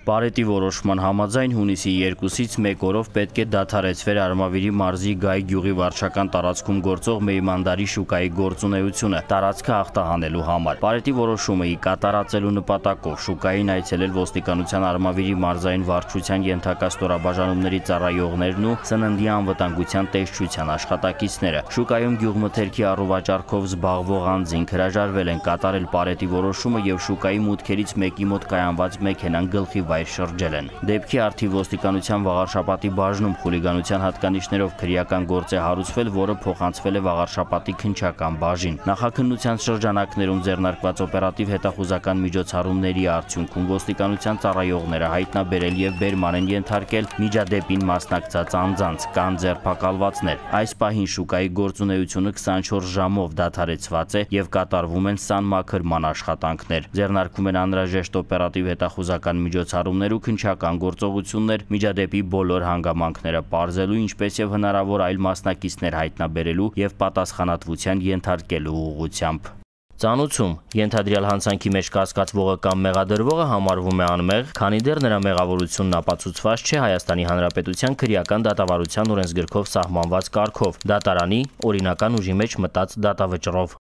Բարետի որոշման համաձայն հունիսի 2-ից 1 օրով պետք է դադարեցվեր Արմավիրի մարզի Գայ գյուղի վարչական տարածքում գործող Մեյմանդարի շուկայի գործունեությունը տարածքը ախտահանելու համար։ Բարետի որոշումը ի կատարածելու նպատակով շուկային այցելել ոստիկանության Արմավիրի մարզային վարչության ենթակա ստորաբաժանումների ծառայողներն ու սննդի անվտանգության տեսչության աշխատակիցները։ Շուկայում գյուղմթերքի առուվաճառքով զբաղվող անձինք հրաժարվել են կատարել Բարետի որոշումը եւ շուկայի մուտքերից մեկի մոտ կայանված մեքենան գլխի շրջել են։ Դեպքի առթիվ ոստիկանության Վաղարշապատի բաժնում խուլիգանության հատկանիշներով քրեական գործ է հարուցվել, որը փոխանցվել է Վաղարշապատի քննչական բաժին։ Նախաքննության շրջանակներում ձեռնարկված օպերատիվ հետախուզական միջոցառումների արդյունքում ոստիկանության ծառայողները հայտնաբերել եւ բերման են ենթարկել միջադեպին մասնակցած անձանց, կան ձերբակալվածներ։ Այս պահին շուկայի գործունեությունը 24 ժամով դադարեցված է եւ կատարվում են սանմաքրման աշխատանքներ։ Ձեռնարկվում են անհրաժեշտ օպերատիվ հետախուզական միջոցառումներ ու քննչական գործողություններ միջադեպի բոլոր հանգամանքները պարզելու, ինչպես եւ հնարավոր այլ մասնակիցներ հայտնաբերելու եւ պատասխանատվության ենթարկելու ուղղությամբ։ Ծանուցում ենթադրյալ հանցանքի մեջ կասկածվողը կամ մեղադրվողը համարվում է անմեղ, քանի դեռ նրա մեղավորությունն ապացուցված չէ Հայաստանի Հանրապետության քրեական դատավարության օրենսգրքով սահմանված կարգով՝ դատարանի օրինական ուժի մեջ մտած դատավճռով։